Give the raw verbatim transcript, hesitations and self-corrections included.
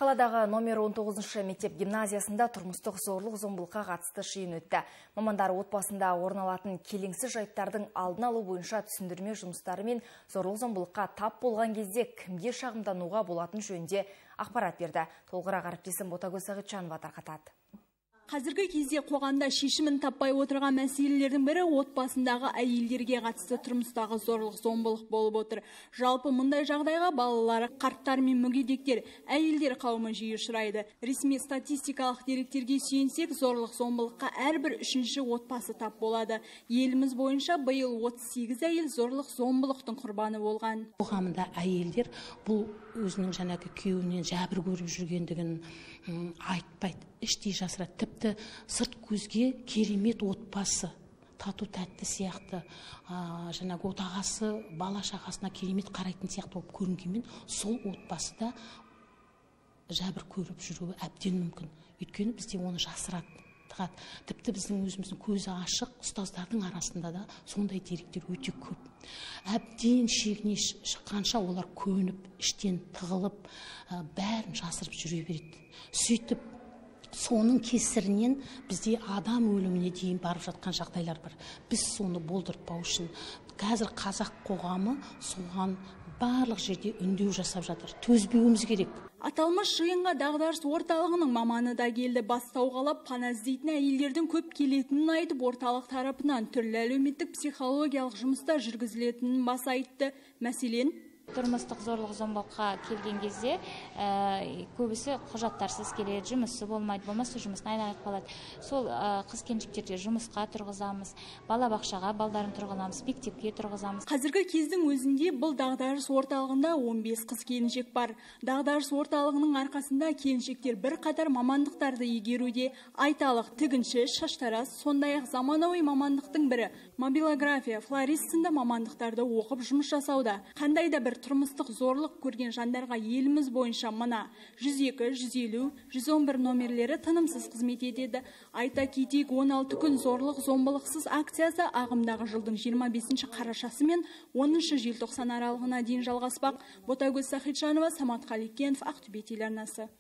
Қаладағы номер он тоғызыншы мектеп гимназиясында тұрмыстық зорлық-зомбылыққа қатысты жиын өтті. Мамандар отбасында орын алатын келеңсіз жайттардың алдын алу бойынша түсіндірме жұмыстары мен зорлық-зомбылыққа тап болған кезде кімге шағымдануға болатын жөнінде ақпарат берді. Толығырақ әріптесім Ботагөз Сағитжанова тарқатады. Қазіргі кезде қоғамда шешімін таппай отырған мәселелердің бірі отбасындағы әйелдерге қатысты тұрмыстағы зорлық-зомбылық болып отыр. Жалпы мұндай жағдайға балалары, қарттар мен мүгедектер, әйелдер қауымы жиі ұшырайды. Ресми статистикалық деректерге сүйенсек, зорлық-зомбылыққа әрбір үшінші отбасы тап болады. Еліміз бойынша биыл отыз сегіз әйел зорлық-зомбылықтың құрбаны болған. Қоғамда әйелдер бұл өзінің жаңағы күйеуінен жәбір көріп жүргендігін айтпайды, іштей жасырады. Тіпті сырт көзге керемет отбасы, тату тәтті сияқты, жаңағы отағасы бала шағасына керемет қарайтын сияқты болып көрінгенмен, сол отбасыда жәбір көріп жүруі әбден мүмкін. Өйткені бізде оны жасырады. Тіпті біздің өзіміздің көзі ашық ұстаздардың арасында да сондай деректер өте көп. Әбден шегіне шыққанша олар көніп, іштен тығылып, бәрін жасырып жүре береді. Сөйтіп, соның кесірінен бізде адам өліміне дейін барып жатқан жағдайлар бар. Біз соны болдыртпау үшін қазір қазақ қоғамы соған барлық жерде үндеу жасап жатыр. Төзбеуіміз керек. Аталмыш жиынға дағдарыс орталығының маманы да келді. Бастау қалап пана іздейтін әйелдердің көп келетінін айтып, орталық тарапынан түрлі әлеуметтік психологиялық жұмыстар жүргізілетінін баса айтты. Мәселен, тұрмыстық зорлық-зомбылыққа келген кезде көбісі құжаттарсыз келеді, жұмысы болмайды, болмаса жұмысын айналып қалады. Сол қыз-келіншектерге жұмысқа тұрғызамыз, балабақшаға балдарын тұрғызамыз, мектепке тұрғызамыз. Қазіргі кездің өзінде бұл дағдарыс орталығында он бес қыз-келіншек бар. Дағдарыс орталығының арқасында келіншектер бір қатар мамандықтарды игеруде. Айталық, тігінші, шаштараз, сондай-ақ заманауи мамандықтың бірі мобилография, флорист сынды мамандықтарды оқып жұмыс жасауда. Қандай да бір тұрмыстық зорлық көрген жандарға еліміз бойынша мына жүз екі, жүз елу, жүз он бір номерлері тынымсыз қызмет етеді. Айта кетейік, он алты күн зорлық-зомбылықсыз акциясы ағымдағы жылдың жиырма бесінші қарашасы мен оныншы желтоқсан аралығына дейін жалғаспақ. Ботагөз Сағитжанова, Самат Қаликенов, Ақтөбе телеарнасы.